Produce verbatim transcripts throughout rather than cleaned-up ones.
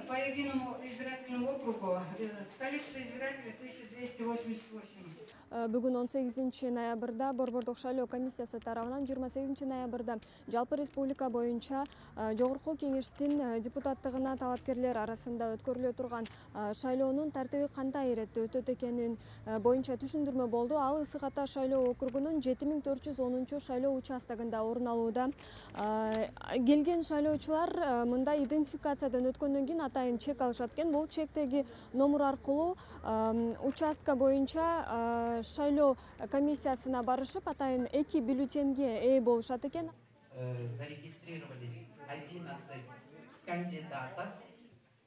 по единому избирательному округу количество избирателей тысяча двести восемьдесят восемь. Бүгүн он сегизинчи ноябрда Борбордук шайлоо комиссиясы тарабынан жыйырма сегизинчи ноябрда жалпы республика боюнча жогорку кеңештин депутаттыгына талапкерлер арасында өткөрүлө турган шайлоонун тартиби кандай иретте өтөт экенин боюнча түшүндүрмө болду. Ал Ысык Ата шайлоо округунун жети миң төрт жүз онунчу шайлоо участогунда орун алууда. Келген шайлоочулар мындай идентификациядан өткөндөн кийин атайын чек алышат экен. Бул чектеги номер аркылуу участка боюнча шайлоо комиссиясына барышып, атайын эки бюллетенге ээ болушат экен. Зарегистрировались одиннадцать кандидатов.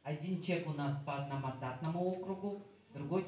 Один чек у нас по одномандатному округу, другой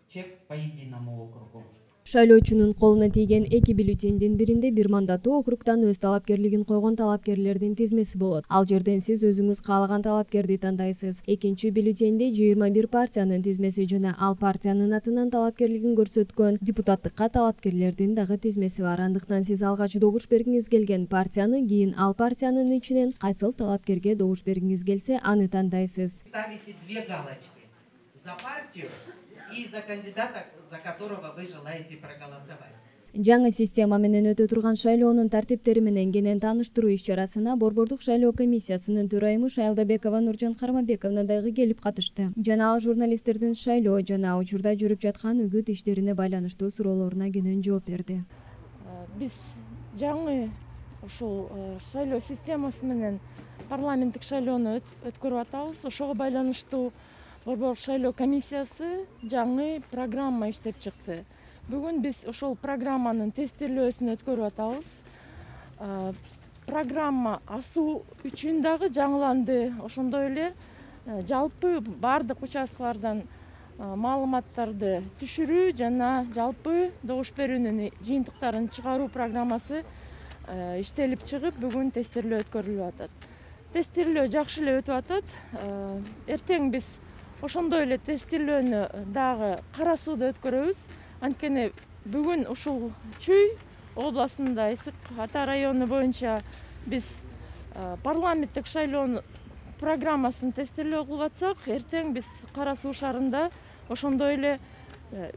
чек по единому округу. Шайлоочунун колуна тийген эки бюллетендин биринде бир мандаттуу округдан өз талапкерлигин койгон талапкерлердин тизмеси болот. Ал жерден сиз өзүңүз каалаган талапкерди тандайсыз. Экинчи бюллетенде жыйырма бир партиянын тизмеси жана ал партиянын атынан талапкерлигин көрсөткөн депутаттыкка талапкерлердин дагы тизмеси бар. Андыктан сиз алгач добуш бергиңиз келген партияны, кийин ал партиянын ичинен кайсыл талапкерге добуш бергиңиз келсе, аны тандайсыз. Ставите две галочки за партию и за кандидата, за которого вы желаете проголосовать. Жаңы система менен өтө турган шайлоонун тартиптери менен кенен тааныштыруу иш-чарасына Борбордук шайлоо комиссиясынын төрайымы Шайлдабекова Нуржан Кармабековна дагы келип катышты. Жана ал журналисттердин шайлоо жана учурда жүрүп жаткан үгүт иштерине байланыштуу суроолоруна кенен жооп берди. Биз жаңы ушул шайлоо системасы менен парламенттик шайлоону өткөрүп атабыз. Ошого байланыштуу Борбордук шайлоо комиссиясы жаңы программа иштеп чыкты. Бүгүн биз ошол программанын тестирлөөсүн өткөрүп атабыз. Программа асуу үчүн дагы жаңыланды. Ошондой эле жалпы бардык участкалардан маалыматтарды түшүрүү жана жалпы добуш берүүнүн жыйынтыктарын чыгаруу программасы иштелип чыгып, бүгүн тестирлөө өткөрүлүп атат. Тестирлөө жакшы эле өтүп атат. Эртең биз ошондой эле тестирлөөнү дагы Кара Сууда өткөрөбүз. Анткени бүгүн ушул Чүй областында Ысык Ата району боюнча биз парламенттик шайлоо программасын тестирлөө кылып атсак, эртең биз Кара Суу шаарында ошондой эле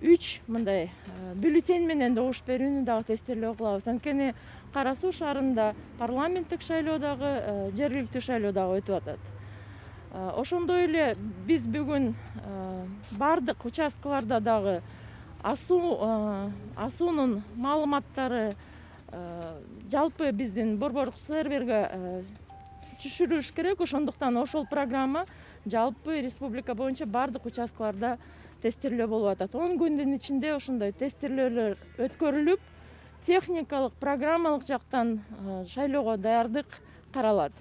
үч мындай бюллетень менен добуш берүүнү дагы тестирлөө кылабыз. Анткени Кара Суу шаарында парламенттик шайлоо дагы, жергиликтүү шайлоо дагы өтүп атат. Ошондой эле биз бүгүн бардык участкаларда дагы асуунун маалыматтары жалпы биздин борборлук серверге түшүрүлүш керек. Ошондуктан ошол программа жалпы республика боюнча бардык участкаларда тестирлөө болуп атат. он күндүн ичинде ошондой тестирлөөлөр өткөрүлүп, техникалык, программалык жактан шайлоого даярдык каралат.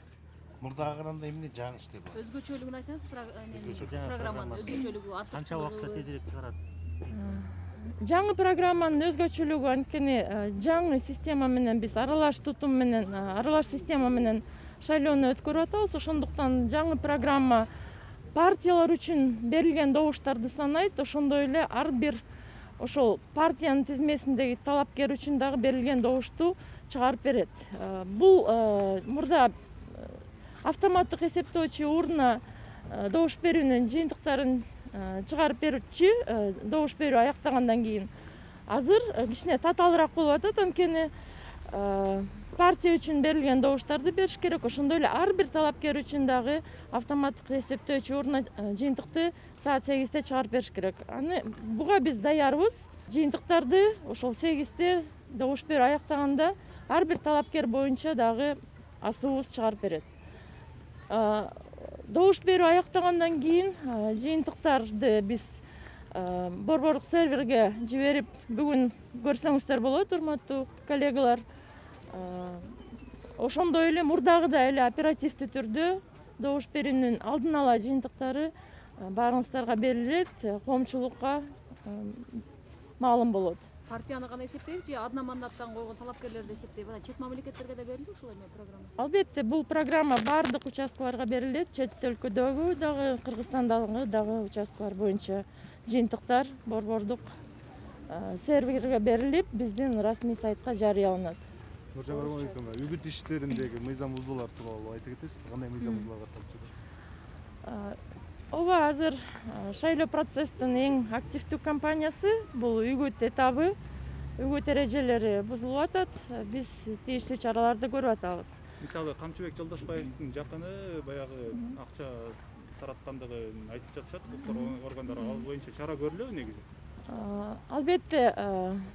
Мурдага караганда эмне жаңы иштер бар? Өзгөчөлүгүн айтсаңыз, программанын өзгөчөлүгү артык. Канча убакытта тезирээк чыгарат? Жаңы программанын өзгөчөлүгү анткени жаңы система менен биз аралаш тутум менен, аралаш система менен шайлоону өткөрүп атабыз. Ошондуктан жаңы программа партиялар үчүн берилген добуштарды санайт. Ошондой эле ар бир ошол партиянын тизмесиндеги талапкер үчүн дагы берилген добушту чыгарып берет. Бул мурда автоматтык эсептөөчү урна добуш берүүнүн жыйынтыктарын чыгарып берчү, добуш берүү аяктагандан кийин. Азыр кичине татаалыраак болуп атат, анткени партия үчүн берилген добуштарды бериш керек. Ошондой эле ар бир талапкер үчүн дагы автоматтык эсептөөчү урна жыйынтыкты саат сегизде чыгарып бериш керек. Аны буга биз даярбыз. Жыйынтыктарды ошол сегизде добуш берүү аяктаганда ар бир талапкер боюнча дагы асуубуз чыгарып берет. Добуш берүү аяктагандан кийин жыйынтыктарды биз борборлук серверге жиберип, бүгүн көрсөңүздөр болот, урматтуу коллегалар. Ошондой эле мурдагыдай эле оперативдүү түрдө добуш берүүнүн алдын ала жыйынтыктары баарыңыздарга берилет, коомчулукка маалым болот. Партияны гана эсептейбиз же одно мандаттан койгон талапкерлерди эсептейбиз? Чет мамлекеттерге да берилди ушул эме программа? Албетте, бул программа бардык участкаларга берилет. Чет өлкөдөгү дагы, Кыргызстандагы дагы участкалар боюнча жыйынтыктар борбордук серверге берилип, биздин расмий сайтка жарыяланат. Нуржан Кармабековна, үгүт иштериндеги мыйзам бузуулар тууралуу айтып кетесизби? Кандай мыйзам бузуулар катталып жатат? ооба, азыр шайлоо процесстин эң активдүү кампаниясы бул үгүт этабы, үгүт эрежелери бузулуп атат. Биз тийиштүү чараларды көрүп атабыз. Мисалы Камчыбек Жолдошбаевдин жакыны баягы акча тараткандыгын айтып жатышат. Укук органдары ал боюнча чара көрүлөбү негизи? Албетте,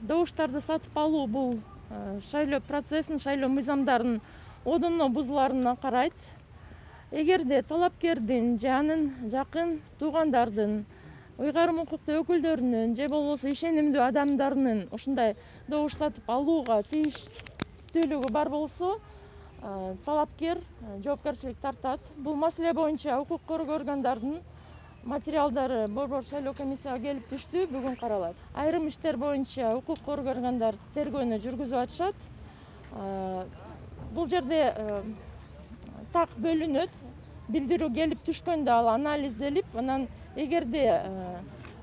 добуштарды сатып алуу бул шайлоо процессин, шайлоо мыйзамдарын одоно бузуларына карайт. Эгерде талапкердин же анын жакын туугандардын, ыйгарым укуктуу өкүлдөрүнүн же болбосо ишенимдүү адамдарынын ушундай добуш сатып алууга тийиштүүлүгү бар болсо, талапкер жоопкерчилик тартат. Бул маселе боюнча укук коргоо органдарынын материалдары Борбор шайлоо комиссияга келип түштү, бүгүн каралат. Айрым иштер боюнча укук коргоо органдар тергөөнү жүргүзүп атышат. Бул жерде так бөлүнөт. Билдирүү келип түшкөндө ал анализделип, анан эгерде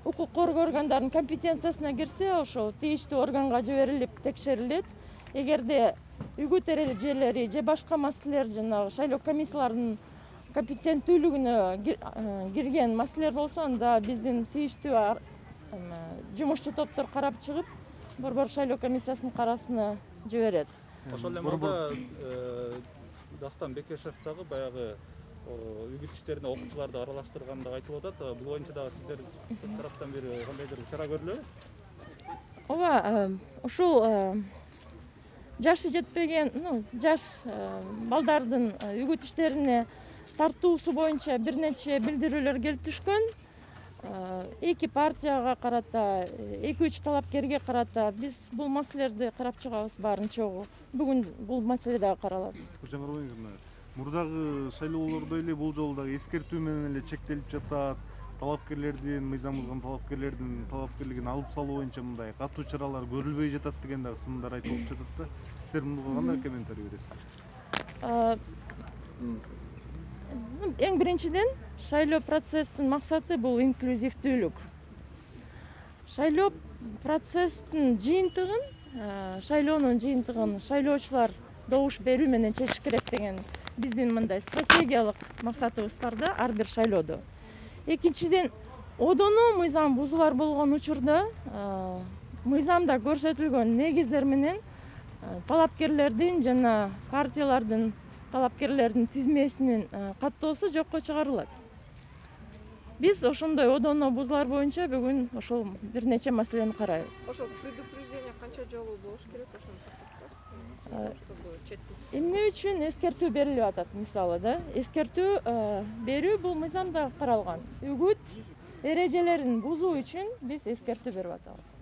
укук коргоо органдарынын компетенциясына кирсе, ошол тийиштүү органга жиберилип текшерилет. Эгерде үгүт эрежелери же башка маселелер, жанагы шайлоо комиссияларынын компетенттүүлүгүнө кирген маселелер болсо, анда биздин тийиштүү жумушчу топтор карап чыгып, Борбор шайлоо комиссиясынын кароосуна жиберет. Ошол эле маалда Дастан Бекешев дагы баягы үгүт иштерине окуучуларды аралаштырганды айтып атат. Бул боюнча дагы сиздер тараптан бери кандайдыр чара көрүлөбү? Ооба, ушул жашы жетпеген, жаш балдардын үгүт иштерине тартуусу боюнча бир нече билдирүүлөр келип түшкөн. Эки партияга карата, эки үч талапкерге карата биз бул маселелерди карап чыгабыз баарын чогуу. Бүгүн бул маселе дагы каралат. Мурдагы шайлоолордо эле бул жолу дагы эскертүү менен эле чектелип жатат. Талапкерлердин, мыйзам бузган талапкерлердин талапкерлигин алып салуу боюнча мындай катуу чаралар көрүлбөй жатат деген дагы сындар айтылып жатат да. Сиздер мунга кандай комментарий бересиздер? Эң биринчиден, шайлоо процесстин максаты бул инклюзивдүүлүк. Шайлоо процесстин жыйынтыгын, шайлоонун жыйынтыгын шайлоочулар добуш берүү менен чечиш керек деген биздин мындай стратегиялык максатыбыз бар да, ар бир шайлоодо. Экинчиден, одоно мыйзам бузуулар болгон учурда мыйзамда көрсөтүлгөн негиздер менен талапкерлердин жана партиялардын талапкерлердин тизмесинин каттоосу жокко чыгарылат. Биз ошондой одоно бузуулар боюнча бүгүн ошол бир нече маселени карайбыз. Ошол предупреждение канча жолу болуш керек ошону? Эмне үчүн эскертүү берилип атат, мисалы да? Эскертүү берүү бул мыйзамда каралган. Үгүт эрежелерин бузуу үчүн биз эскертүү берип атабыз.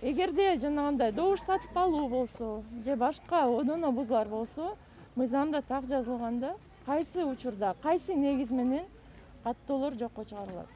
Эгерде жанагындай добуш сатып алуу болсо, же башка одоно бузуулар болсо, мыйзамда так жазылганда, кайсы учурда, кайсы негиз менен каттоолор жокко чыгарылат.